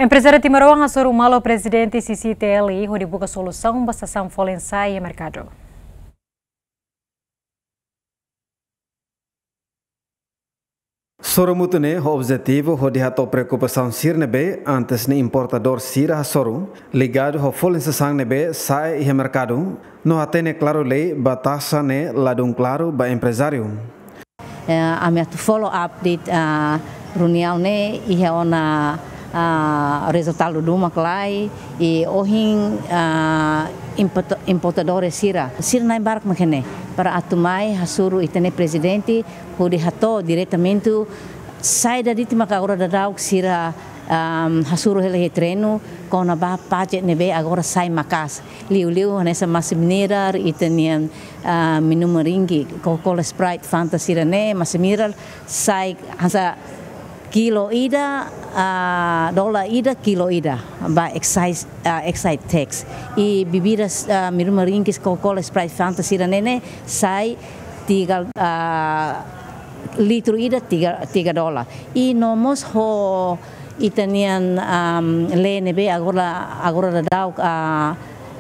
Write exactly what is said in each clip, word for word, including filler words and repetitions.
Emprezáriu timoroan hasoru malu Prezidente C C T L hodi buka solusaun ba sasán folin sa'e iha merkadu. Soru mútuo ne'e ho objetivu hodi hato'o preokupasaun sira ne'ebé antes ne'e importadór sira hasoru, ligadu ho folin sasán ne'ebé sa'e iha merkadu, no hatene klaru lei ba taxa ne'e ladún klaru ba emprezáriu. Eh, ami atu follow up de'it, ah, reuniaun ne'e iha ona, ah, rezultadu duma klai, i ohin, ah, importa-, importadór sira. Sira na'in barak mak ne'e, para atu mai hasoru ita-nia Prezidente, hodi hato'o diretamente saida de'it mak agora daudaun sira, ahm, hasoru hela iha terrenu, kona-ba pajak ne'ebé agora sai maka'as. Liuliu hanesan masin mineral, ita-nian, ah, minuman ringik, Coca-Cola, Sprite, Fanta sira-ne'e, masin mineral, sai hanesan kilo ida, ah, dolar ida, kilo ida, ba excise, ah, excise tax. I bebidas, ah, minuman ringik, Coca-Cola, Sprite, Fanta sira-ne'e ne'e, sai tiga, ah, litru ida tiga, tiga dolar. I no mós ho ita-nian, ahm, lei ne'ebé agora, agora daudaun, ah,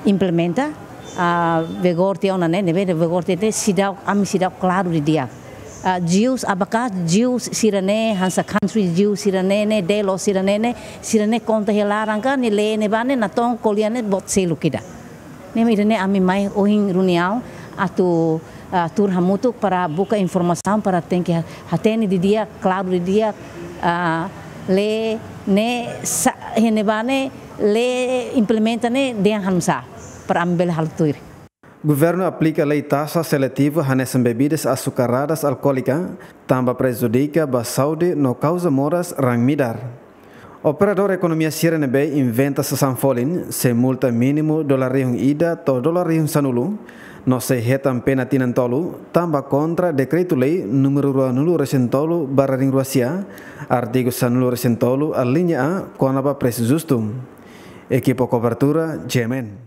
implementa, ah, vigor tiha ona ne'e, ne'ebé vigor tiha ne'e, seidauk, ami seidauk klaru didi'ak. Ah, juice, abakate juice sira-ne'e, hanesan country juice sira-ne'e ne'e, delo sira-ne'e ne'e, sira-ne'e konta iha laran ka, nia lei ne'ebá ne'e natoon ko'alia ne'e boot seluk ida. Ne'e mak ida-ne'e ami mai ohin reuniaun atu, ah, tuur hamutuk para buka informasaun para tenke ha-, hatene didi'ak, klaru didi'ak, ah, lei ne'e sa-, iha ne'ebá ne'e lei implementa ne'e dehan hanesan para ami bele halo tuir. Governu aplika lei taxa seletivu hanesan bebidas açucaradas alcoólicas, tanba prejudika ba saúde no kauza moras raan-midar. Operadór ekonomia sira ne'ebé inventa sasán folin, sei multa mínimu dolar rihun ida to'o dolar rihun sanulu, no sei hetan pena tinan tolu, tanba kontra dekretu-lei númeru ruanulu resin tolu barra rihun rua sia, artigu sanulu resin tolu, alínea A, kona-ba presu justu. Ekipa kobertura, G M N.